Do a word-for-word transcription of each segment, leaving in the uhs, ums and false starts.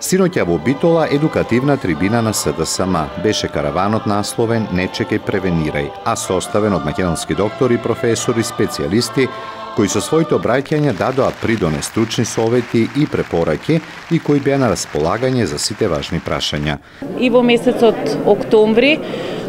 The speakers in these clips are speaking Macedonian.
Синоќа во Битола едукативна трибина на СДСМ беше караванот насловен "Не чекај, превенирај", а составен од македонски доктори, професори, специјалисти кои со своите обраќања дадоа придонес стручни совети и препораки и кои беа на располагање за сите важни прашања. И во месецот октомври,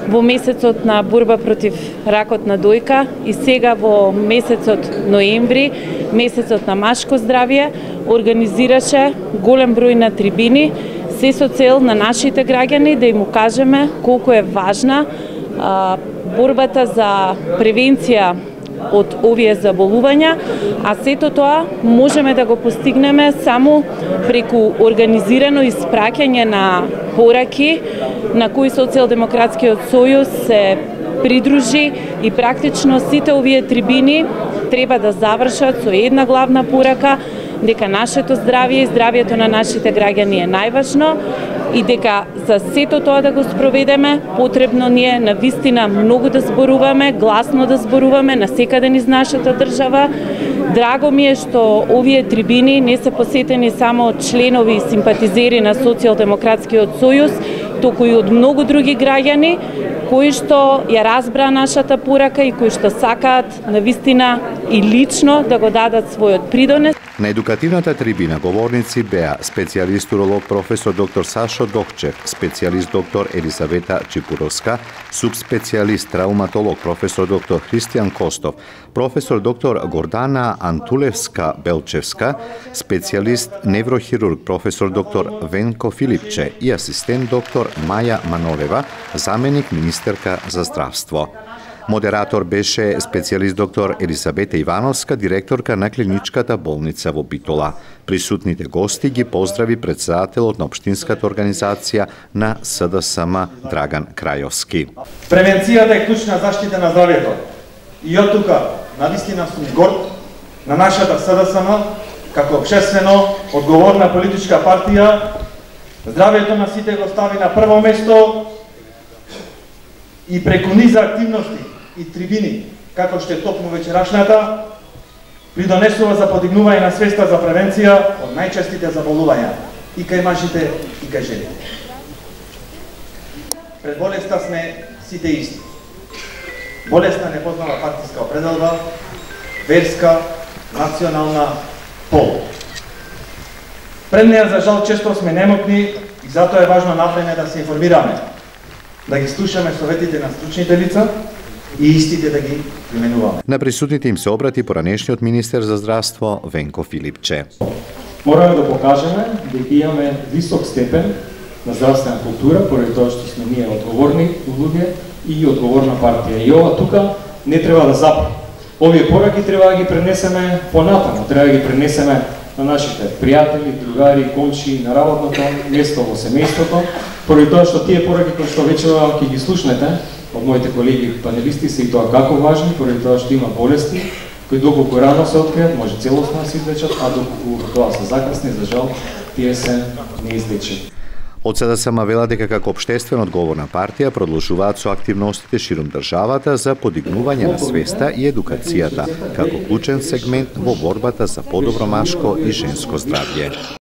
во месецот на борба против ракот на дојка и сега во месецот ноември, месецот на машко здравје, организираше голем број на трибини, се со цел на нашите граѓани да им укажеме колку е важна а, борбата за превенција од овие заболувања, а сето тоа можеме да го постигнеме само преку организирано испраќање на пораки на кои Социјалдемократскиот сојуз се придружи и практично сите овие трибини треба да завршат со една главна порака дека нашето здравје и здравјето на нашите граѓани е најважно и дека за сето тоа да го спроведеме, потребно ни е навистина многу да зборуваме, гласно да зборуваме насекаде низ нашата држава. Драго ми е што овие трибини не се посетени само од членови и симпатизери на Социјалдемократскиот сојуз, туку и од многу други граѓани кои што ја разбраа нашата порака и кои што сакаат навистина и лично да го дадат својот придонес. На едукативната трибина говорници беа специјалист уролог професор доктор Сашо Докчев, специјалист доктор Елизавета Чипуровска, субспецијалист травматолог професор доктор Христијан Костов, професор доктор Гордана Антулевска-Белчевска, специјалист неврохирург професор доктор Венко Филипче и асистент доктор Маја Манолева, заменик министерка за здравство. Модератор беше специјалист доктор Елисабета Ивановска, директорка на клиничката болница во Битола. Присутните гости ги поздрави претседателот на општинската организација на СДСМ Драган Крајовски. Превенцијата е клучна заштита на здравјето. И од тука, навистина сум горд на нашата СДСМ, како општествено одговорна политичка партија, здравјето на сите го стави на прво место и преку низа активности и трибини, како што е токму вечерашната, придонесува за подигнување на свеста за превенција од најчестите заболувања и кај мажите и кај жените. Пред болеста сме сите исти. Болеста не познава партиска определба, верска, национална, пол. Пред неја, за жал, често сме немотни и затоа е важно навреме да се информираме, да ги слушаме советите на стручните лица и истите да ги применуваме. На присутните им се обрати поранешниот министер за здравство Венко Филипче. Мораме да покажеме дека имаме висок степен на здравствена култура, поради тоа што сме ние одговорни луѓе и одговорна партија. И ова тука не треба да запре. Овие пораки треба да ги пренесеме понатаму, треба да ги пренесеме на нашите пријатели, другари, комши, на работното место во семејството, поради тоа што тие пораки кои што вече ќе ги слушнете од моите колеги панелисти се и тоа како важни, поради тоа што има болести кои доколку рано се откријат, може целосно да се излечат, а доколку тоа се закасни, за жал, тие се неизлечени. Од СДСМ велат дека како општествено одговорна партија продолжуваат со активностите ширум државата за подигнување на свеста и едукацијата како клучен сегмент во борбата за подобро машко и женско здравје.